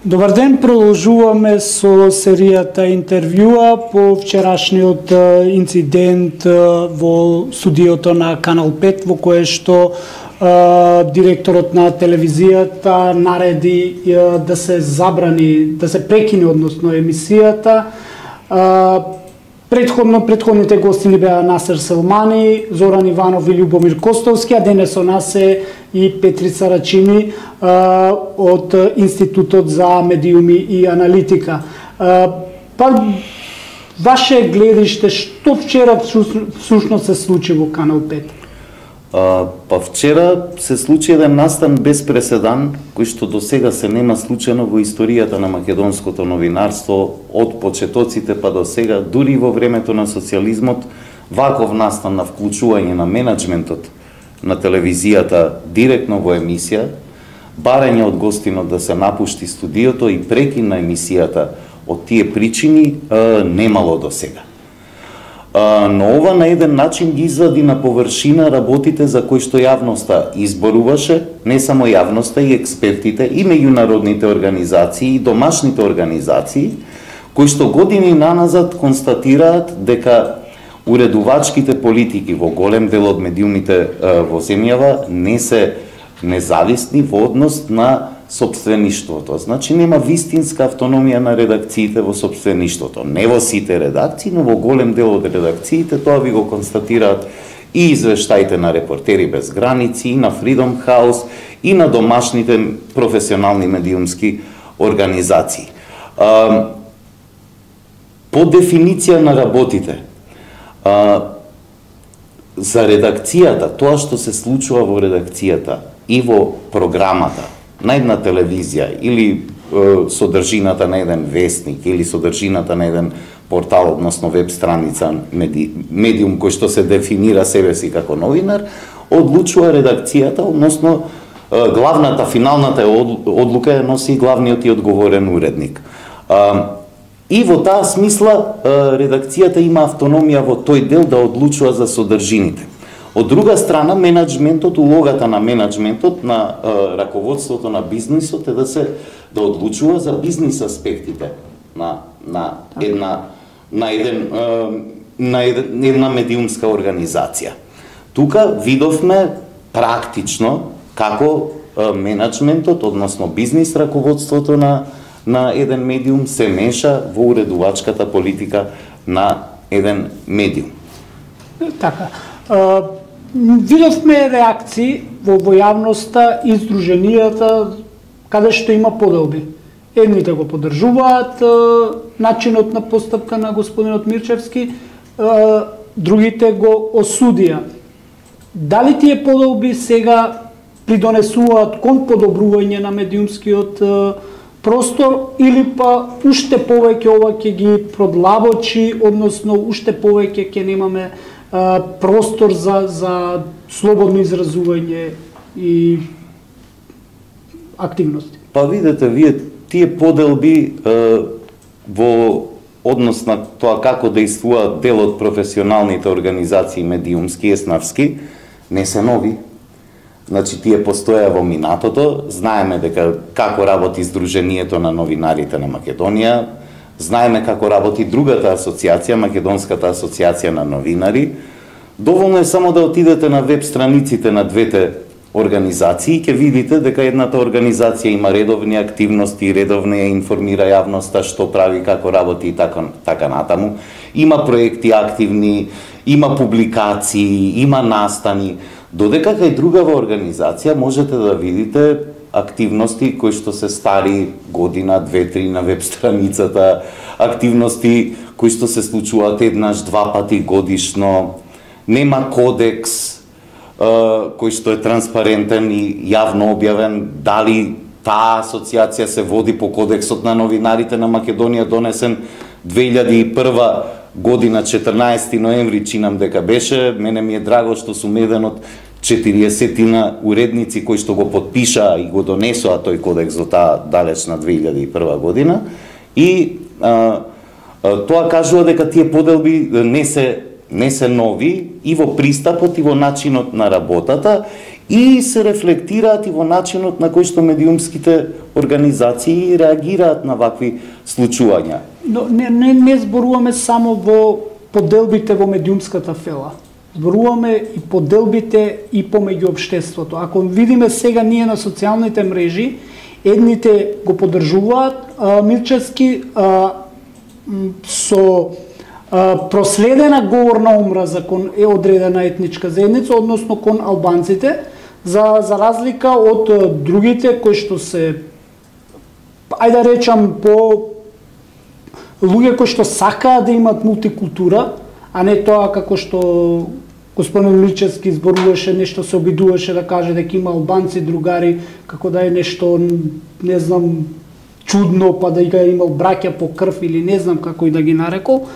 Добар ден, продолжуваме со серијата интервјуа по вчерашниот инцидент во студиото на Канал 5, во кое што директорот на телевизијата нареди да се забрани, да се прекине односно емисијата. Предходните гостини беа Насер Селмани, Зоран Иванов и Љубомир Костовски, а денес со нас е и Петрица Рачини од Институтот за медиуми и аналитика. Ваше гледиште, што вчера всушност се случи во Канал 5? Вчера се случи еден настан без преседан, кој што до сега се нема случено во историјата на македонското новинарство, од почетоците па до сега, дури во времето на социјализмот, ваков настан на вклучување на менаџментот на телевизијата директно во емисија, барање од гостинот да се напушти студиото и прекин на емисијата од тие причини немало до сега. Но ова на еден начин ги извади на површина работите за кои што јавноста изборуваше, не само јавноста и експертите, и меѓународните организации и домашните организации, кои што години наназад констатираат дека уредувачките политики во голем дел од медиумите во земјава не се независни во однос на сопствеништвото. Значи нема вистинска автономија на редакциите во сопствеништвото. Не во сите редакции, но во голем дел од редакциите, тоа ви го констатираат и извештаите на Репортери без граници, и на Freedom House, и на домашните професионални медиумски организации. По дефиниција на работите, за редакцијата, тоа што се случува во редакцијата и во програмата на една телевизија или содржината на еден вестник или содржината на еден портал, односно веб страница, медиум кој што се дефинира себе си како новинар, одлучува редакцијата, односно главната, финалната одлука ја носи главниот и одговорен уредник. И во таа смисла редакцијата има автономија во тој дел да одлучува за содржините. Од друга страна, менаџментот, улогата на менаџментот, на раководството на бизнисот е да одлучува за бизнис аспектите на една медиумска организација. Тука видовме практично како менаџментот, односно бизнис раководството на еден медиум се меша во уредувачката политика на еден медиум. Така. Видовме реакции во јавноста и здруженијата каде што има поделби. Едните го поддржуваат начинот на постапка на господинот Мирчевски, другите го осудија. Дали тие поделби сега придонесуваат кон подобрување на медиумскиот простор или па уште повеќе ова ќе ги продлабочи, односно уште повеќе ќе немаме простор за слободно изразување и активности? Па видете, вие тие поделби во однос на тоа како действуваат дел од професионалните организации медиумски и еснавски, не се нови. Значи, тие постоја во минатото, знаеме дека како работи Сдруженијето на новинарите на Македонија, знаеме како работи другата асоциација, Македонската асоциација на новинари. Доволно е само да отидете на веб страниците на двете организации и ќе видите дека едната организација има редовни активности, редовно ја информира јавноста што прави, како работи и така натаму. Има проекти активни, има публикации, има настани. Додека кај другава организација можете да видите активности кои што се стари година, 2-3 на веб страницата, активности кои што се случуваат еднаш, 2 пати годишно, нема кодекс кој што е транспарентен и јавно објавен, дали таа асоциација се води по кодексот на новинарите на Македонија, донесен 2001 година, 14 ноември, чинам дека беше. Мене ми е драго што сум еден од 40 уредници кои што го подпишаа и го донесоа тој кодекс до таа далечна 2001 година. И тоа кажува дека тие поделби не се нови и во пристапот и во начинот на работата и се рефлектираат и во начинот на кој што медиумските организации реагираат на вакви случувања. Но не зборуваме само во поделбите во медиумската фела. Зборуваме и поделбите и помеѓу општеството. Ако видиме сега ние на социјалните мрежи, едните го поддржуваат Мирчевски со проследена говорна омраза кон одредена етничка заедница, односно кон албанците, за разлика од другите кои што се, ајде да речам, по луѓе кои што сакаат да имат мултикултура, а не тоа како што господин Мирчевски зборуваше, нешто се обидуваше да каже дека има албанци другари, како да е нешто, не знам, чудно, па да ја имал браќа по крв или не знам како и да ги нарекол.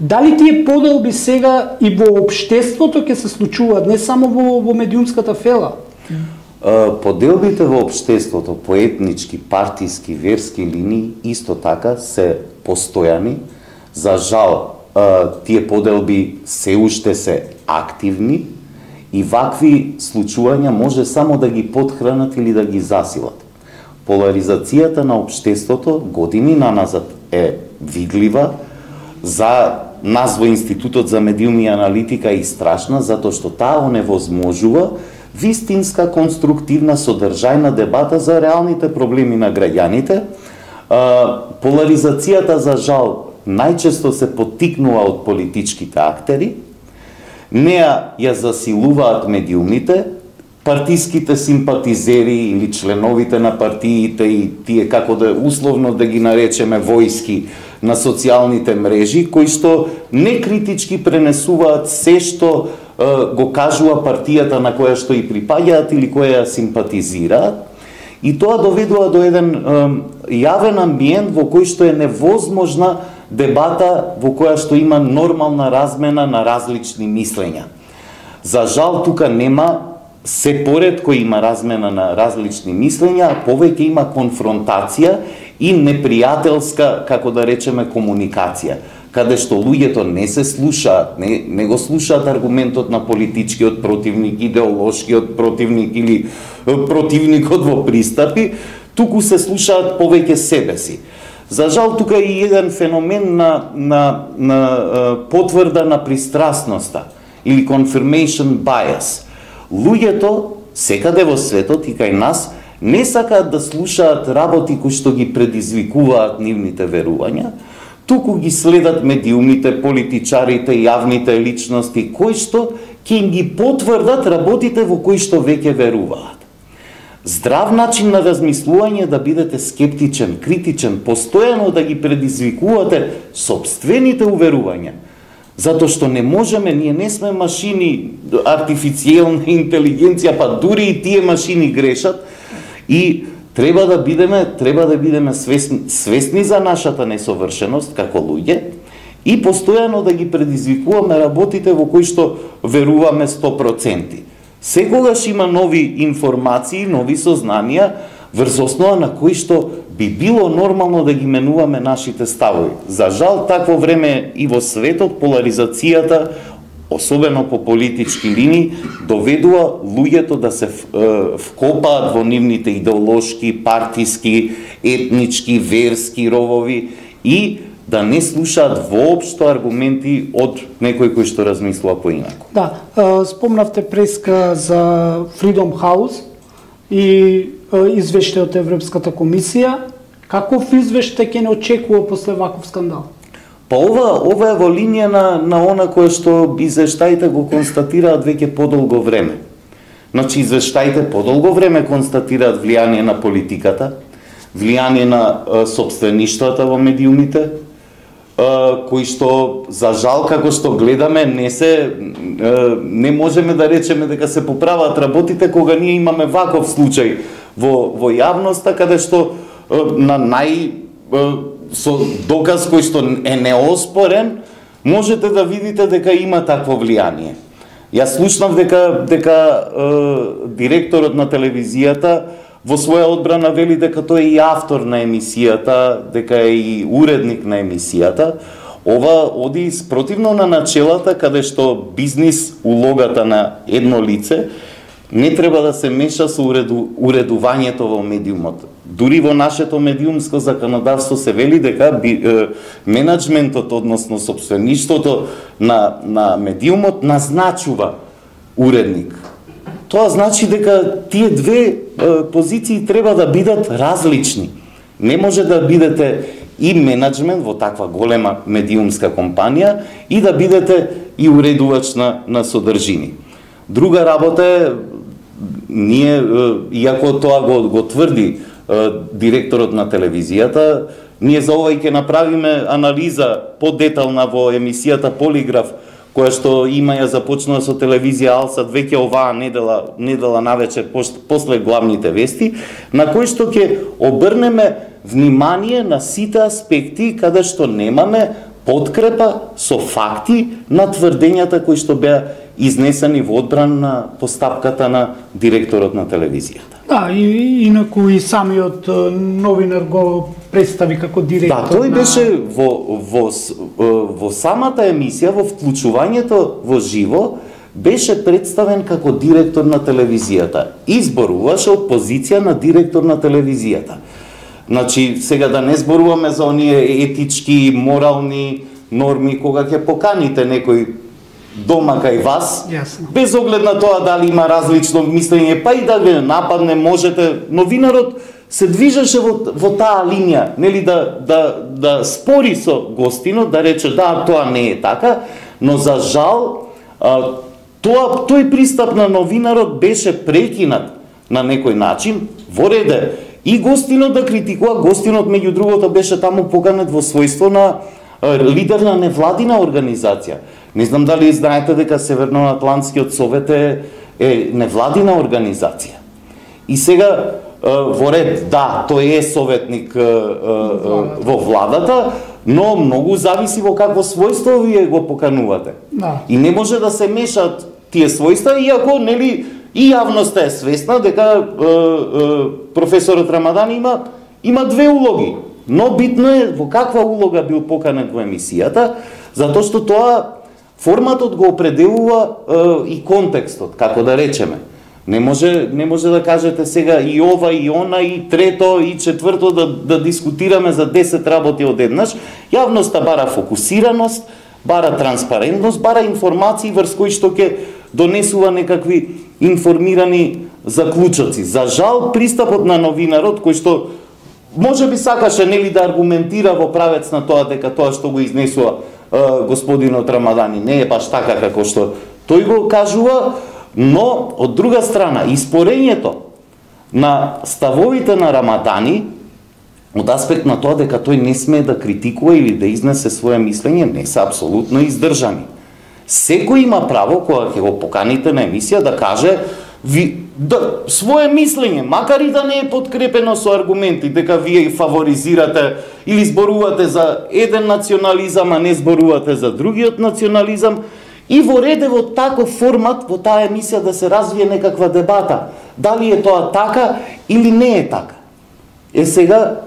Дали тие поделби сега и во општеството ќе се случуваат, не само во медиумската фела? Поделбите во општеството по етнички, партиски, верски линии исто така се постојани. За жал, тие поделби се уште се активни и вакви случувања може само да ги потхранат или да ги засилат. Поларизацијата на општеството години наназад е видлива. За нас во Институтот за медиуми и аналитика е страшна, затоа што таа оневозможува вистинска, конструктивна, содржајна дебата за реалните проблеми на граѓаните. Поларизацијата, за жал, најчесто се поттикнува од политичките актери. Неа ја засилуваат медиумите, партиските симпатизери или членовите на партиите и тие, како да условно да ги наречеме, војски на социјалните мрежи, кои што некритички пренесуваат се што го кажува партијата на која што и припаѓаат или која ја симпатизираат. И тоа доведува до еден јавен амбиент во кој што е невозможна дебата во која што има нормална размена на различни мислења. За жал, тука нема, се поред кој има размена на различни мислења, повеќе има конфронтација и непријателска, како да речеме, комуникација, каде што луѓето не се слушаат, не го слушаат аргументот на политичкиот противник, идеолошкиот противник или противникот во пристапи, туку се слушаат повеќе себе си. За жал, тука е и еден феномен на потврда на пристрасноста или confirmation bias. Луѓето секаде во светот и кај нас не сакаат да слушаат работи кои што ги предизвикуваат нивните верувања, туку ги следат медиумите, политичарите, јавните личности, кои што ќе им ги потврдат работите во кои што веќе веруваат. Здрав начин на размислување да бидете скептичен, критичен, постојано да ги предизвикувате сопствените уверувања. Затоа што не можеме, ние не сме машини, артифицијална интелигенција, па дури и тие машини грешат и треба да бидеме свесни за нашата несовршеност како луѓе и постојано да ги предизвикуваме работите во кои што веруваме 100%. Секогаш има нови информации, нови сознанија, врз основа на кои што би било нормално да ги менуваме нашите ставови. За жал, такво време и во светот, поларизацијата, особено по политички линии, доведува луѓето да се вкопаат во нивните идеолошки, партиски, етнички, верски ровови и да не слушаат воопшто аргументи од некој кој што размислува поинаку. Да, спомнавте преска за Freedom House и извештај од Европската комисија. Каков извештај ќе не очекува после ваков скандал? Па ова е во линија на она кое што извештаите го констатираат веќе подолго време. Значи, извештаите подолго време констатираат влијание на политиката, влијание на сопствеништвата во медиумите, кои што, за жал, како што гледаме, не можеме да речеме дека се поправаат работите кога ние имаме ваков случај во јавноста, каде што со доказ кој што е неоспорен, можете да видите дека има такво влијание. Јас слушнав дека директорот на телевизијата во своја одбрана вели дека тој е и автор на емисијата, дека е и уредник на емисијата. Ова оди спротивно на начелата каде што бизнис улогата на едно лице не треба да се меша со уредувањето во медиумот. Дури во нашето медиумско законодавство се вели дека менаџментот, односно сопствеништвото на медиумот назначува уредник. Тоа значи дека тие две позиции треба да бидат различни. Не може да бидете и менаџмент во таква голема медиумска компанија и да бидете и уредувач на содржини. Друга работа е, ние, иако тоа го тврди директорот на телевизијата, ние за ова и ќе направиме анализа подетална во емисијата Полиграф, која што има ја започнува со телевизија Алсат веќе оваа недела навечер после главните вести, на кој што ќе обрнеме внимание на сите аспекти каде што немаме подкрепа со факти на тврдењата кои што беа изнесени во одбрана на постапката на директорот на телевизијата. Да, и инаку и самиот новинар го представи како директор. Да, тој беше во самата емисија, во вклучувањето во живо, беше представен како директор на телевизијата. Изборуваше од позиција на директор на телевизијата. Значи, сега да не зборуваме за оние етички, морални норми, кога ќе поканите некој дома кај вас, без оглед на тоа дали има различно мислење, па и да ве нападне, можете, новинарот се движеше во таа линија, нели да спори со гостинот, да рече да, тоа не е така, но за жал тој пристап на новинарот беше прекинат на некој начин, во реде и гостинот да критикува, гостинот меѓу другото беше таму поканет во својство на лидер на невладина организација. Не знам дали знаете дека Северноатлантскиот совет е невладина организација. И сега во ред, да, тој е советник во владата, но многу зависи во какво својство вие го поканувате. Да. И не може да се мешат тие својства, иако нели и јавноста е свесна дека професорот Рамадани има две улоги. Но битно е во каква улога бил поканет во емисијата, затоа што тоа форматот го определува и контекстот, како да речеме. Не може да кажете сега и ова, и она, и трето, и четврто да дискутираме за 10 работи одеднаш. Јавноста бара фокусираност, бара транспарентност, бара информации врз кои што ќе донесува некакви информирани заклучоци. За жал, пристапот на новинарот, кој што може би сакаше нели да аргументира во правец на тоа дека тоа што го изнесува господинот Рамадани не е баш така како што тој го кажува, но од друга страна испорењето на ставовите на Рамадани од аспект на тоа дека тој не смее да критикува или да изнесе своје мислење не се апсолутно издржани. Секој има право кога ќе го поканите на емисија да каже своје мислење, макар и да не е подкрепено со аргументи, дека вие фаворизирате или зборувате за еден национализам, а не зборувате за другиот национализам, и во реде во таков формат, во таа емисија да се развие некаква дебата. Дали е тоа така или не е така? Сега,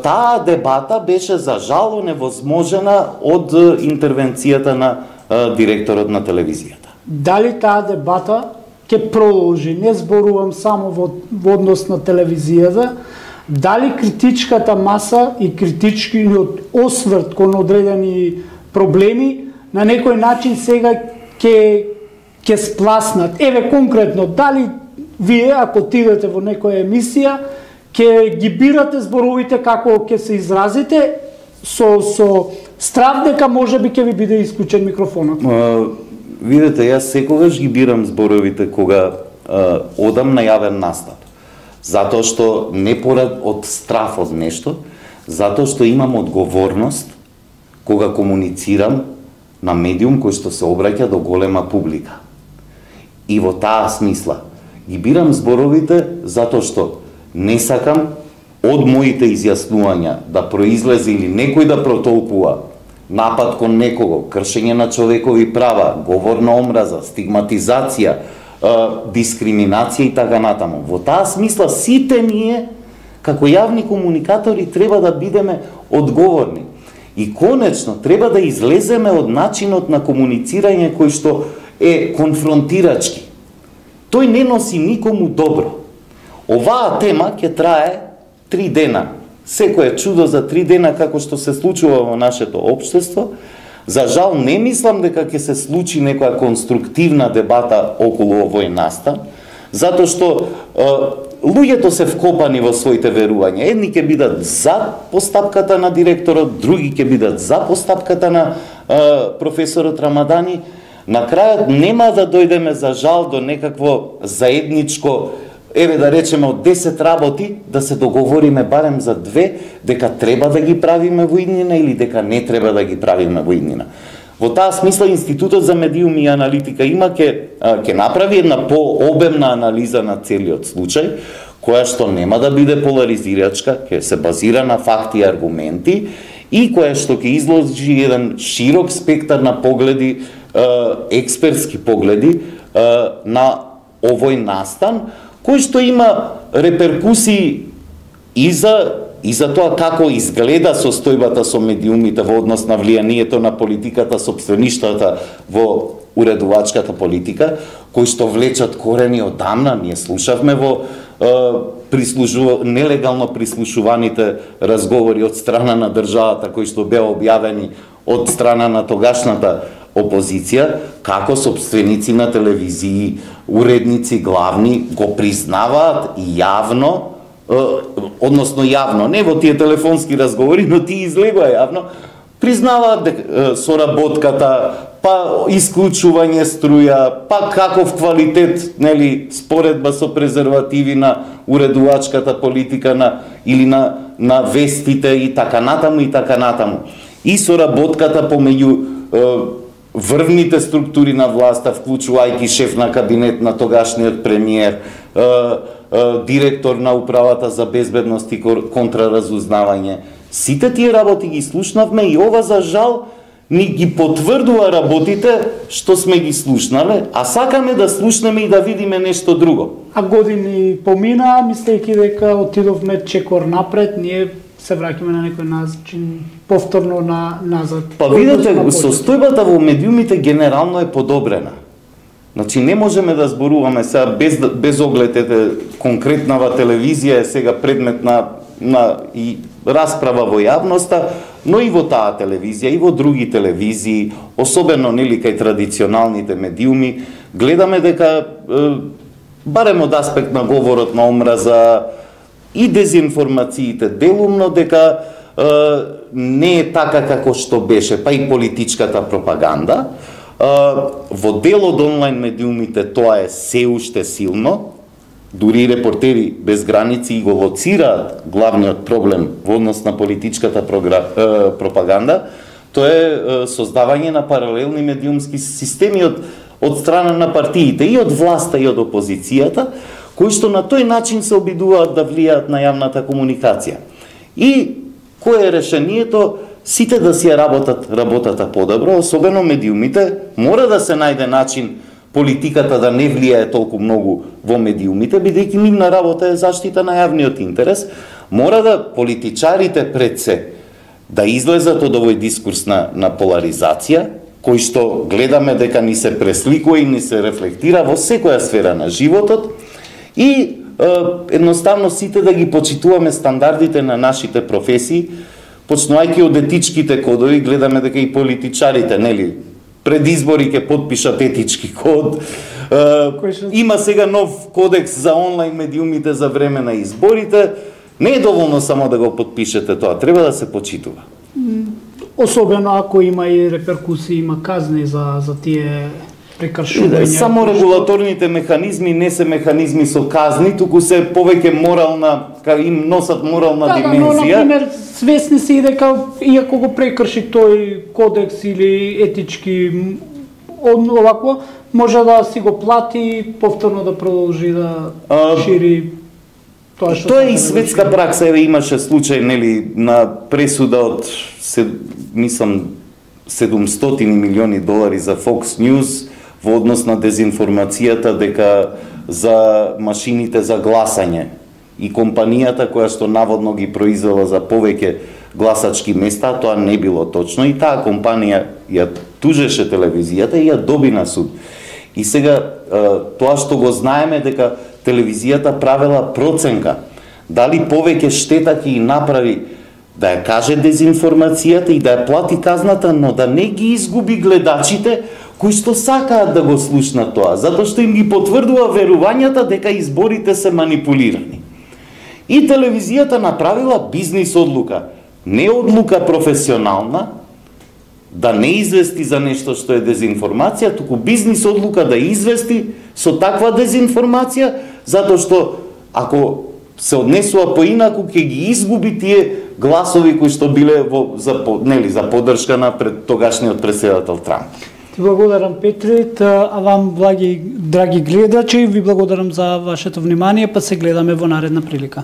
таа дебата беше за жал невозможена од интервенцијата на директорот на телевизијата. Дали таа дебата ќе продолжи, не зборувам само во однос на телевизијата, дали критичката маса и критичкиот осврт кон одредени проблеми на некој начин сега ќе спласнат. Еве конкретно, дали вие ако отидете во некоја емисија ќе ги бирате зборовите како ќе се изразите со страв дека можеби ќе ви биде исклучен микрофонот? Видете, јас секогаш ги бирам зборовите кога одам на јавен настап. Затоа што не порад од страф од нешто, затоа што имам одговорност кога комуницирам на медиум кој што се обраќа до голема публика. И во таа смисла ги бирам зборовите затоа што не сакам од моите изјаснувања да произлезе или некој да протолкува напад кон некого, кршење на човекови права, говор на омраза, стигматизација, дискриминација и така натаму. Во таа смисла сите ние како јавни комуникатори треба да бидеме одговорни. И конечно треба да излеземе од начинот на комуницирање кој што е конфронтирачки. тој не носи никому добро. Оваа тема ќе трае 3 дена. Секој е чудо за 3 дена како што се случува во нашето општество. За жал не мислам дека ќе се случи некоја конструктивна дебата околу овој настан, затоа што луѓето се вкопани во своите верувања. Едни ќе бидат за постапката на директорот, други ќе бидат за постапката на професорот Рамадани. На крајот нема да дојдеме за жал до некакво заедничко, еве да речеме од 10 работи, да се договориме барем за 2, дека треба да ги правиме во иднина или дека не треба да ги правиме во иднина. Во таа смисла Институтот за медиуми и аналитика има ќе направи една пообемна анализа на целиот случај, која што нема да биде поларизирачка, ќе се базира на факти и аргументи и која што ќе изложи еден широк спектар на погледи, експертски погледи на овој настан, кој што има реперкусии и за тоа како изгледа состојбата со медиумите во однос на влијанието на политиката, сопствеништвата во уредувачката политика, кои што влечат корени одамна. Ние слушавме во нелегално прислушуваните разговори од страна на државата, кои што беа објавени од страна на тогашната опозиција, како сопственици на телевизии, уредници главни го признаваат јавно, односно јавно, не во тие телефонски разговори, но тие излегоа јавно, признаваат соработката, па исклучување струја, па каков квалитет, нели, споредба со презервативи на уредувачката политика или на вестите и така натаму. И соработката помеѓу врвните структури на власта, вклучувајќи шеф на кабинет на тогашниот премиер, директор на управата за безбедност и контраразузнавање. Сите тие работи ги слушнавме и ова за жал ни ги потврдува работите што сме ги слушнале, а сакаме да слушнеме и да видиме нешто друго. А години помина, мислејќи дека отидовме чекор напред, ние се враќаме на некој начин повторно назад. Па видете, состојбата во медиумите генерално е подобрена. Значи не можеме да зборуваме сега без оглед конкретнава телевизија е сега предмет на и расправа во јавноста, но и во таа телевизија и во други телевизии, особено нели кај традиционалните медиуми, гледаме дека барем од аспект на говорот на омраза и дезинформациите делумно дека не е така како што беше, па и политичката пропаганда. Во дел од онлайн медиумите тоа е се уште силно, дури репортери без граници го лоцираат главниот проблем во однос на политичката пропаганда, тоа е создавање на паралелни медиумски системи од страна на партиите, и од власта и од опозицијата, кои што на тој начин се обидуваат да влијаат на јавната комуникација. И кое е решението? Сите да си ја работата подобро, особено медиумите, мора да се најде начин политиката да не влијае толку многу во медиумите, бидејќи нивна работа е заштита на јавниот интерес. Мора да политичарите пред се да излезат од овој дискурс на поларизација, кој што гледаме дека ни се пресликува и ни се рефлектира во секоја сфера на животот, и едноставно сите да ги почитуваме стандардите на нашите професии, почнувајќи од етичките кодови. Гледаме дека и политичарите, нели, пред избори ќе потпишат етички код. Има сега нов кодекс за онлайн медиумите за време на изборите. Не е доволно само да го потпишете тоа, треба да се почитува. Особено ако има и реперкусии, има казни за тие прекршувања. Само регулаторните механизми не се механизми со казни, туку се повеќе морална, им носат морална димензија. Но, например, свесни се и дека, иако го прекрши тој кодекс или етички овакво, може да си го плати, повторно да продолжи да шири тоа што... Тоа е и светска пракса, еве имаше случај, нели, на пресуда од, мислам, $700 милиони за Fox News во однос на дезинформацијата дека за машините за гласање и компанијата која што наводно ги произвела за повеќе гласачки места, тоа не било точно, и таа компанија ја тужеше телевизијата и ја доби на суд. И сега тоа што го знаеме дека телевизијата правела проценка дали повеќе штета ќе и направи да ја каже дезинформацијата и да ја плати казната, но да не ги изгуби гледачите кои што сакаат да го слушнат тоа, затоа што им ги потврдува верувањата дека изборите се манипулирани. И телевизијата направила бизнис одлука, не одлука професионална, да не извести за нешто што е дезинформација, туку бизнис одлука да извести со таква дезинформација, затоа што ако се однесува поинаку, ќе ги изгуби тие гласови кои што биле за поддршка на тогашниот претседател Трамп. Ти благодарам, Петрит, а вам, драги гледачи, ви благодарам за вашето внимание, па се гледаме во наредна прилика.